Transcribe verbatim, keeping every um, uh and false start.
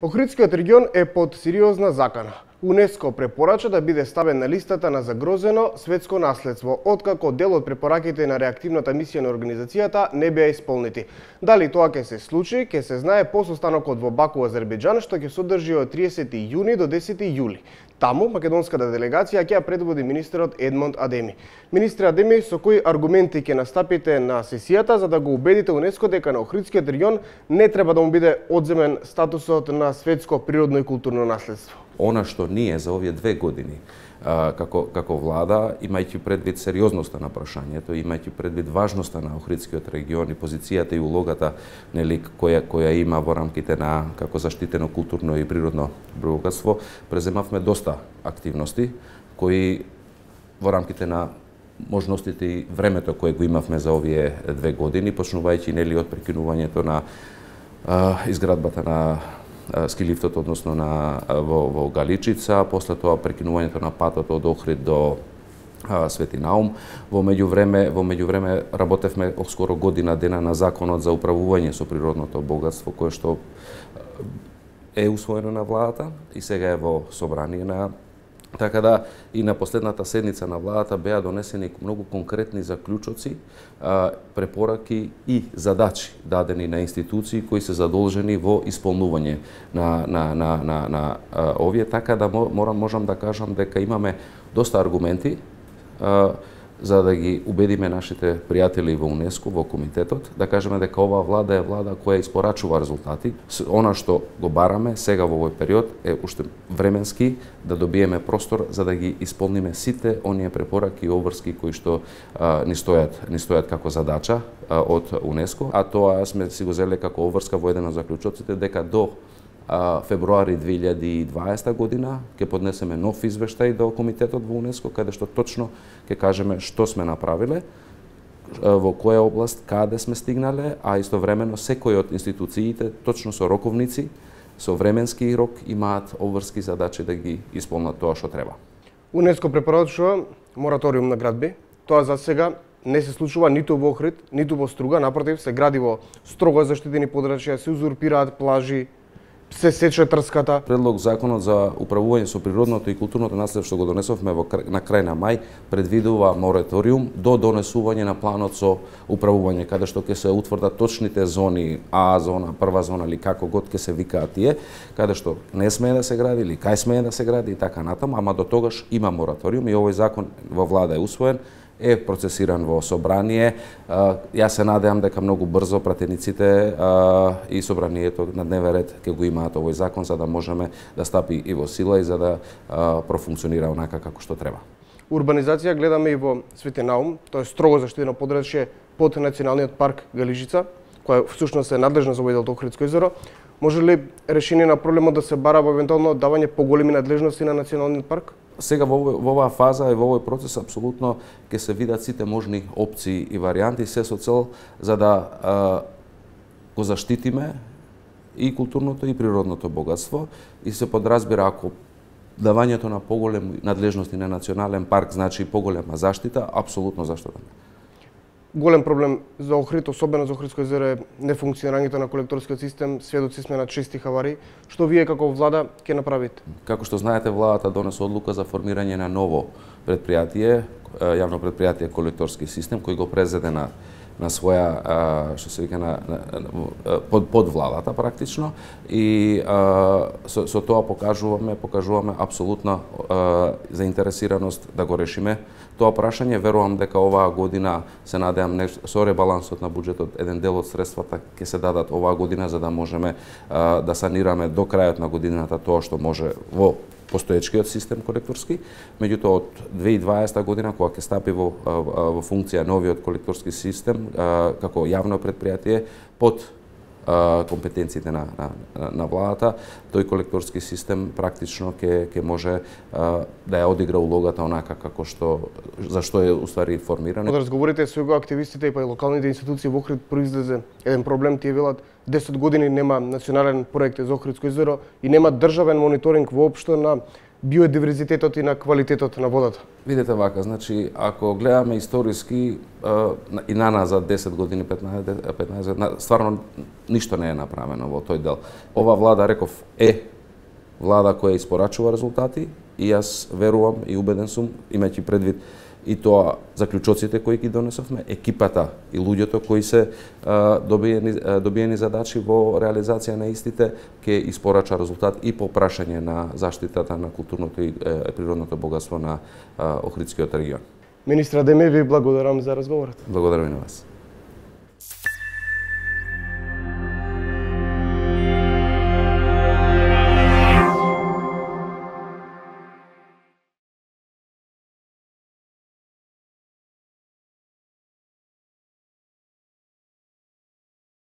Охридскиот регион е под сериозна закана. УНЕСКО препорача да биде ставен на листата на загрозено светско наследство, откако дел од препораките на реактивната мисија на организацијата не беа исполнети. Дали тоа ќе се случи, ќе се знае по состанокот во Баку, Азербејџан, што ќе се одржи од тридесети јуни до десети јули. Таму македонската делегација ќе ја предводи министерот Едмонд Адеми. Министре Адеми, со кои аргументи ќе настапите на сесијата за да го убедите УНЕСКО дека на Охридскиот регион не треба да му биде одземен статусот на светско природно и културно наследство? Она што ние за овие две години како како влада, имајќи предвид сериозноста на прашањето, имајќи предвид важноста на Охридскиот регион и позицијата и улогата нели која која има во рамките на како заштитено културно и природно богатство, преземавме доста активности кои во рамките на можностите и времето кое го имавме за овие две години, почнувајќи нели од прекинувањето на а, изградбата на ски лифтот, односно на во, во Галичица, после тоа прекинувањето на патот од Охрид до а, Свети Наум. Во меѓувреме, во меѓувреме работевме скоро година дена на законот за управување со природното богатство, кое што е усвоено на владата и сега е во собрание на. Така да и на последната седница на владата беа донесени многу конкретни заклучоци, препораки и задачи дадени на институции кои се задолжени во исполнување на на на на, на овие, така да морам можам да кажам дека имаме доста аргументи за да ги убедиме нашите пријатели во УНЕСКО, во комитетот, да кажеме дека оваа влада е влада која испорачува резултати. Она што го бараме сега во овој период е уште временски да добиеме простор за да ги исполниме сите оние препораки и обврски кои што а, ни стојат ни стојат како задача а, од УНЕСКО, а тоа сме си го зеле како обврска во еден од заклучоците дека до А, февруари две илјади и дваесета година ќе поднесеме нов извештај до комитетот во УНЕСКО, каде што точно ќе кажеме што сме направиле, во која област, каде сме стигнале, а истовремено секој од институциите точно со роковници, со временски рок имаат обврски задачи да ги исполнат тоа што треба. УНЕСКО препорачува мораториум на градби. Тоа за сега не се случува ниту во Охрид, ниту во Струга, напротив се гради во строго заштитени подрачја, се узурпираат плажи, се сече трската. Предлог законот за управување со природното и културното наследство што го донесовме во на крај на мај предвидува мораториум до донесување на планот со управување, каде што ќе се утврдат точните зони, А зона, прва зона или како год ќе се викаат тие, каде што не смее да се гради или кај смее да се гради и така натаму, ама до тогаш има мораториум и овој закон во влада е усвоен, е процесиран во собрание. Јас се надевам дека многу брзо пратениците и собранието на дневен ред ќе го имаат овој закон за да можеме да стапи и во сила и за да профункционира онака како што треба. Урбанизација гледаме и во Свети Наум, тоа е строго заштитено подрачје под Националниот парк Галичица, која всушност е надлежна за овој дел од Охридско езеро. Може ли решение на проблемот да се бара во евентуално давање поголеми надлежности на Националниот парк? Сега во, во оваа фаза и во овој процес апсолутно ќе се видат сите можни опции и варијанти, се со цел за да а, го заштитиме и културното и природното богатство и се подразбира ако давањето на поголеми надлежности на национален парк значи поголема заштита, апсолутно зашто да не. Голем проблем за Охрид, особено за Охридско езеро е нефункционирањето на колекторскиот систем. Сведоци сме на чести хавари. Што вие како влада ќе направите? Како што знаете, владата донесе одлука за формирање на ново предпријатие, јавно предпријатие колекторски систем, кој го презеде на на своја, што се вика, на, на, на, под, под владата практично и а, со, со тоа покажуваме, покажуваме апсолутна а, заинтересираност да го решиме тоа прашање. Верувам дека оваа година, се надевам, со ребалансот на буџетот, еден дел од средствата ќе се дадат оваа година за да можеме а, да санираме до крајот на годината тоа што може во постоечкиот систем колекторски, меѓутоа од две илјади и дваесета година кога ќе стапи во, во функција новиот колекторски систем како јавно предпријатие под компетенциите на, на, на владата, тој колекторски систем практично ќе ќе може а, да ја одигра улогата онака како што за што е уствари формиран. Кога разговорите со го активистите и па и локалните институции во Охрид произлезе еден проблем, тие велат десет години нема национален проект за Охридско езеро и нема државен мониторинг воопшто на биодиверзитетот и на квалитетот на водата? Видете вака, значи, ако гледаме историски и на назад десет години, петнаесет, петнаесет, стварно ништо не е направено во тој дел. Ова влада, реков, е влада која испорачува резултати и јас верувам и убеден сум, имајќи предвид и тоа заклучоците кои ги донесовме, екипата и луѓето кои се а, добиени, добиени задачи во реализација на истите, ќе испорача резултат и по прашање на заштитата на културното и е, природното богатство на а, Охридскиот регион. Министра Демир, ви благодарам за разговорот. Благодарам и на вас.